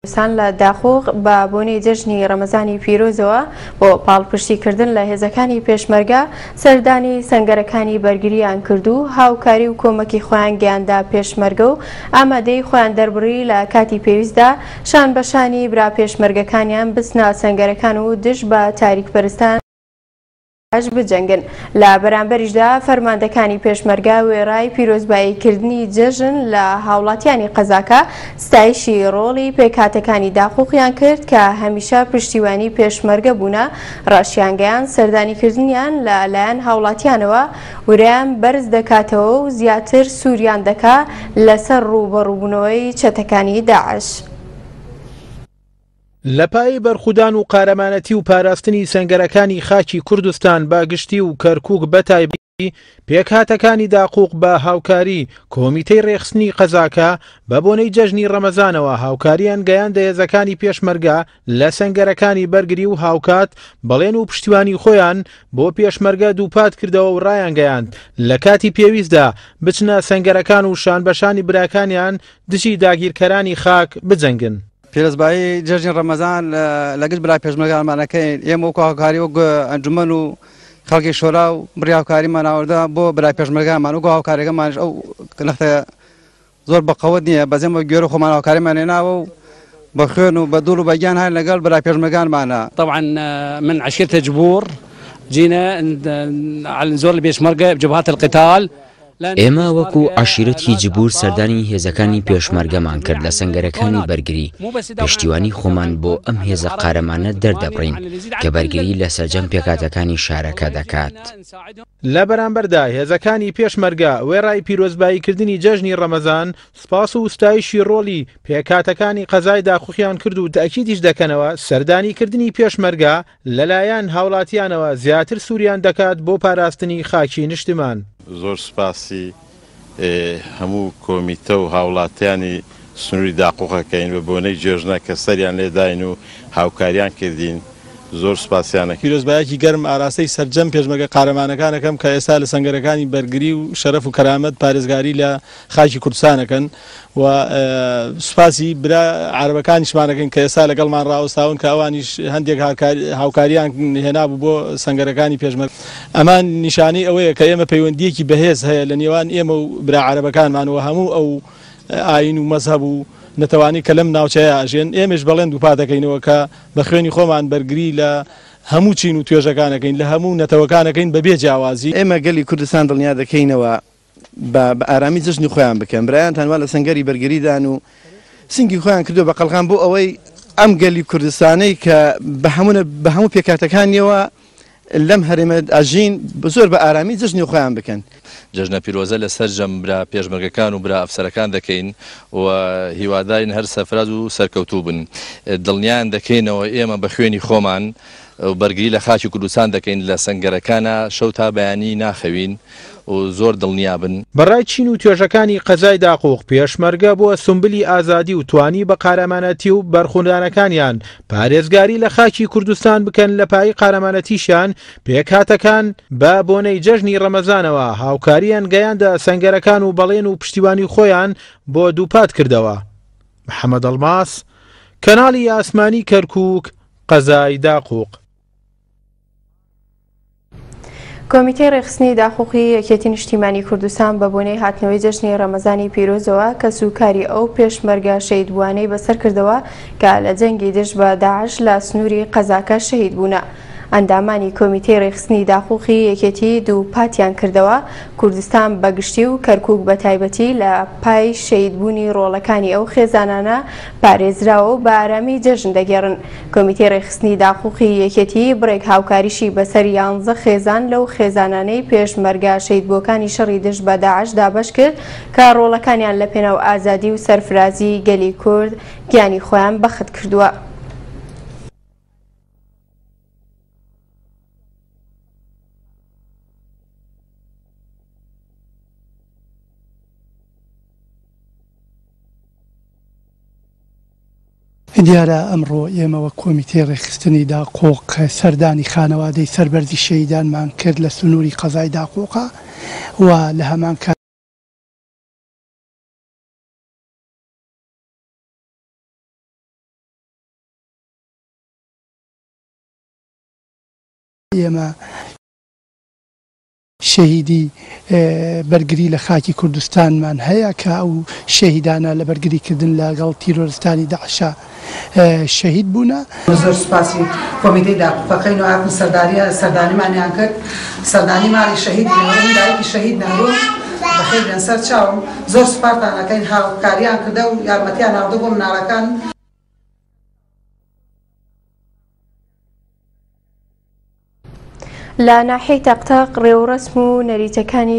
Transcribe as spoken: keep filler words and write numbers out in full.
کوردستان لە داقوق بە بۆنەی جەژنی ڕەمەزانی پیرۆزەوە بۆ پاڵپشتیکردن لە هێزەکانی پێشمەرگە سەردانی سەنگەرەکانی بەرگریان کرد و هاوکاری و کۆمەکی خۆیان گەیاندە پێشمەرگە و ئامادەی خۆیان دەربڕی لە کاتی پێویستدا شان بە شانی برا پێشمەرگەکانیان بچنە سەنگەرەکان و دژ بە تاریکپەرستان بجەنگن. لە بەرامبەریشدا فەرماندەکانی پێشمەرگە وێڕای پیرۆزباییکردنی جەژن لە هاوڵاتیانی قەزاکە ستایشی ڕۆڵی پێکهاتەکانی داقوقیان کرد کە هەمیشە پشتیوانی پێشمەرگە بوونە، ڕاشیانگەیان سەردانیکردنیان لە لایەن هاوڵاتیانەوە ورەیان بەرز دەکاتەوە و زیاتر سووریان دەکا لەسەر ڕووبەڕووبوونەوەی چەتەکانی داعش. لە پای بەرخودان و قارەمانەتی و پاراستنی سەنگەرەکانی خاکی کوردستان بە گشتی و کەرکووک بەتایبەتی پێکهاتەکانی داقوق بە هاوکاری کۆمیتەی ڕێخستنی قەزاکە بە بۆنەی جەژنی ڕەمەزانەوە هاوکاریان گەیاندە هێزەکانی پێشمەرگە لە سەنگەرەکانی بەرگری و هاوکات بەڵێن و پشتیوانی خۆیان بۆ پێشمەرگە دووپات کردەوە و ڕایانگەیاند لە کاتی پێویستدا بچنە سەنگەرەکان و شان بەشانی براکانیان دژی داگیرکەرانی خاک بجەنگن. پیرۆزبایی جەژنی ڕەمەزان لەگەڵ برا پێشمەرگانمان ئەکەین. ئێمە وەکو هاوکاری وەک ئەنجومەن و خەڵکی شۆرا و بڕی هاوکاریمان ئاوردە بۆ برای پێشمەرگانمان، وەکو هاوکاریەکەمانش ئەو نەختە زۆر بەقەوت نییە، بەس ئێمە گوێرە خۆمان هاوکاریمان هێناوە و بە خوێن و بە دوڵ و بە گیان هەر لەگەڵ برای پێشمەرگانمانە. طبعا من عشيرة جبور جينا على نزور البيشمركة بجبهات القتال. ئێمە وەکو عەشیرەتی جبور سەردانی هێزەکانی پێشمەرگەمان کرد لە سەنگەرەکانی بەرگری، پشتیوانی خۆمان بۆ ئەم هێزە قارەمانە دەردەبڕین کە بەرگری لە سەرجەم پێکهاتەکانی شارەکە دەکات. لە بەرامبەردا هێزەکانی پێشمەرگە وێڕای پیرۆزباییکردنی جەژنی ڕەمەزان سوپاس و ستایشی ڕۆڵی پێکهاتەکانی قەزای داقوقیان کرد و تەئکیدیش دەکەنەوە سەردانیکردنی پێشمەرگە لەلایەن هاوڵاتیانەوە زیاتر سووریان دەکات بۆ پاراستنی خاکی نیشتمان. زۆر سوپاسی هەموو کۆمیتە و هاوڵاتیانی سنووری داقوقەکەین بە بۆنەی جێژنە کە سەریان لێداین و هاوکاریان کردین، زۆر سوپاسیانەکەین. پیرۆزبایەکی گەرم ئاراستەی سەرجەم پێشمەرگە قارەمانەکانەکەم کە ئێستا لە سەنگەرەکانی بەرگری و شەرەف و کەرامەت پارێزگاری لە خاکی کوردستانەکەن و سوپاسی برا عەرەبەکانیشمانەکەین کە ئێستا لەگەڵمان ڕاوەستاون کە ئەوانیش هەندێک هاوکاریان هێنابوو بۆ سەنگەرەکانی پێشمەرگە. ئەمان نیشانەی ئەوەیە کە ئێمە پەیوەندیەکی بەهێز هەیە لە نێوان ئێمە و برا عەرەبەکانمان و هەموو ئەو ئاین و مەزهەب و نەتەوانی کە لەم ناوچەیە ئەژێن. ئێمەش بەڵێن دووپات دەکەینەوە کە بە خوێنی خۆمان بەرگری لە هەموو چین و توێژەکانەکەین، لە هەموو نەتەوەکانەکەین بەبێ جیاوازی. ئێمە گەلی کوردستان دڵنیا دەکەینەوە بە ئارامی جەژنی خۆیان بکەن، برایانتان وا لە سەنگەری بەرگریدان و سنگی خۆیان کردو بە قەڵغان بۆ ئەوەی ئەم گەلی کوردستانەی کە بە هەموو پێکهاتەکانیەوە لەم هەرێمە ئەژین زۆر بە ئارامی جەژنی خۆیان بکەن. جەژنە پیرۆزە لە سەرجەم برا پێشمەرگەکان و برا ئەفسەرەکان دەکەین و هیوادارین هەر سەرفراز و سەرکەوتوو بن. دڵنیان دەکەینەوە ئێمە بە خوێنی خۆمان بەرگری لە خاکی کوردستان دەکەین، لە سەنگەرەکانە شەو تا بەیانی ناخەوین و زۆر دڵنیا بن. بەڕای چین و توێژەکانی قەزای داقوق پێشمەرگە بووە سمبلی ئازادی و توانی بە قارەمانەتی و بەرخوندانەکانیان پارێزگاری لە خاکی کوردستان بکەن. لە پای قارەمانەتیشیان پێکهاتەکان بە بۆنەی جەژنی ڕەمەزانەوە هاوکاریان گەیاندە سەنگەرەکان و بەڵێن و پشتیوانی خۆیان بۆ دووپات کردەوە. محەممەد ئەڵماس، کەناڵی ئاسمانی کەرکووک، قەزای داقوق. کۆمیتەی ڕێخستنی داقوقی یەکێتی نیشتیمانی کوردستان بە بۆنەی هاتنەوەی جەژنی ڕەمەزانی پیرۆزەوە کەس و کاری ئەو پێشمەرگە شەهیدبووانەی بەسەر کردەوە کە لە جەنگی دژ بە داعش لە سنووری قەزاکە شەهید بوونە. ئەندامانی کۆمیتەی ڕێخستنی داقوقی یەکێتی دووپاتیان کردەوە کوردستان بەگشتی و کەرکووک بە تایبەتی لە پای شەهیدبوونی ڕۆڵەکانی ئەو خێزانانە پارێزراوە و بە ئارامی جەژن دەگێڕن. کۆمیتەی ڕێخستنی داقوقی یەکێتی بڕێک هاوکاریشی بەسەر یانزە خێزان لەو خێزانانەی پێشمەرگە شەهیدبووەکانی شەڕی دژ بە داعش دابەش کرد کە ڕۆڵەکانیان لە پێناو ئازادی و سەرفرازی گەلی کورد گیانی خۆیان بەخت کردووە. دیارە ئەمڕۆ ئێمە وەک کۆمیتەی ڕێکخستنی داقوق سەردانی خانەوادەی سەربەرزی شەهیدانمان کرد لە سنووری قەزای داقوقە و لە هەمان کات ئێمە شەهیدی بەرگری لە خاکی کوردستانمان هەیە کە ئەو شەهیدانە لە بەرگریکردن لەگەڵ تیرۆرستانی داعشا شەهید بوونە. زۆر سوپاسی کۆمیتەی داقوقەکەین و هاتن سەردانیمانیان کرد، سەردانی ماڵی شەهید نەورۆن، دایکی شەهید نەورۆن بەخێر بێن سەر چاوم. زۆر سوپاستان ئەکەین، هاوکاریان کردە و یارمەتیان هاوردە بۆ مناڵەکان. لە ناحیەی تەقتەق ڕێوڕەسم و نەریتەکانی